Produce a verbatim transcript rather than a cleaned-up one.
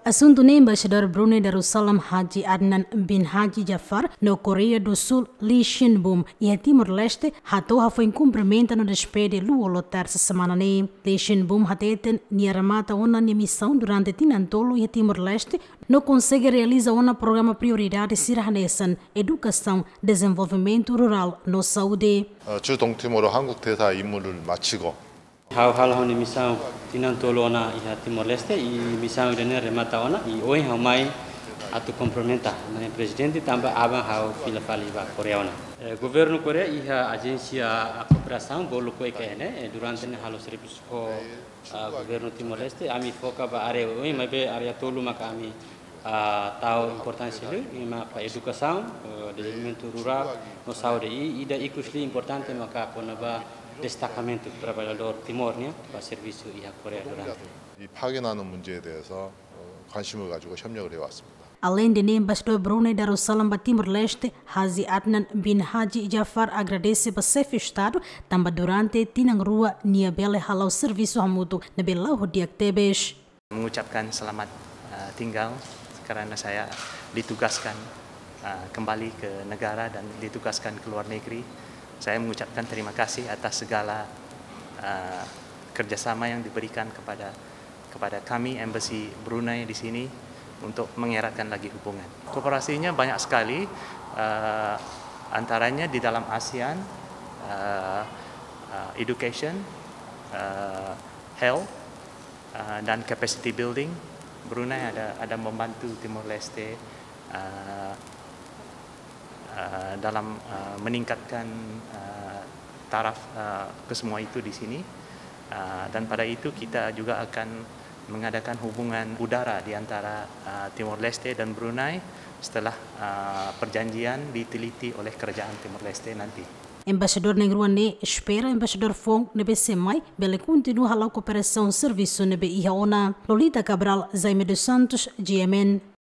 Asuntu ne'e Embaixadór Brunei Darussalam Haji Adnan bin Haji Jafar no Koreia do Sul Lee Shin Bum iha Timor-Leste hato'o hafoin kumprimenta no despede Lú-Olo tersa semana ne'e. Lee Shin Bum hateten nia remata ona nia misaun durante tinan tolu iha Timor-Leste no konsege realiza ona programa prioridade sira hanesan edukasaun, dezenvolvimentu rurál no saúde. 어, 주 동티모르 한국 대사 임무를 마치고 Ha'u halo ha'u-nia misaun tinan tolu ona iha Timor-Leste, i misaun ida-ne'e remata ona, i ohin ha'u mai atu kumprimenta Na'i Prezidente tanba aban ha'u fila fali ba Koreia ona. Eh, Governu Koreia iha ajénsia kooperasaun bolu ko eka ene, eh, durante ne'e halo servisu ho, ah, Governu Timor-Leste, ami foka ba área oin, maibé área tolu maka ami, ah, tau importánsia liu, i maka edukasaun, eh, dezenvolvimentu rurál, no saúde, i ida ikus liu importante maka kona-ba destakamentu traballadór Timor nian ba servisu iha Koreia durante. 이 파견하는 문제에 대해서 어, 관심을 가지고 협력을 해왔습니다. Aleinde ne'e, Embaixadór Brunei Darussalam ba Timor-Leste, Haji Adnan bin Haji Jafar agradese ba Xefe Estadu tanba durante tinan rua nia bele hala'o servisu hamutuk ne'ebé la'o di'ak tebes. Mengucapkan selamat uh, tinggal karena saya ditugaskan uh, kembali ke negara dan ditugaskan ke luar negeri. Saya mengucapkan terima kasih atas segala uh, kerjasama yang diberikan kepada kepada kami Embassy Brunei di sini untuk mengeratkan lagi hubungan. Kooperasinya banyak sekali, uh, antaranya di dalam ASEAN, uh, uh, education, uh, health, uh, dan capacity building. Brunei ada ada membantu Timor Leste uh, uh, dalam uh, meningkatkan uh, taraf uh, kesemua itu di sini. Uh, dan pada itu kita juga akan mengadakan hubungan udara di antara uh, Timor Leste dan Brunei setelah uh, perjanjian diteliti oleh kerajaan Timor Leste nanti. Embaixadór na'in-rua ne'e espera Embaixadór foun ne'ebé sei mai bele kontinua hala'o kooperasaun servisu ne'ebé iha ona. Lolita Cabral, Jaime dos Santos, GMN.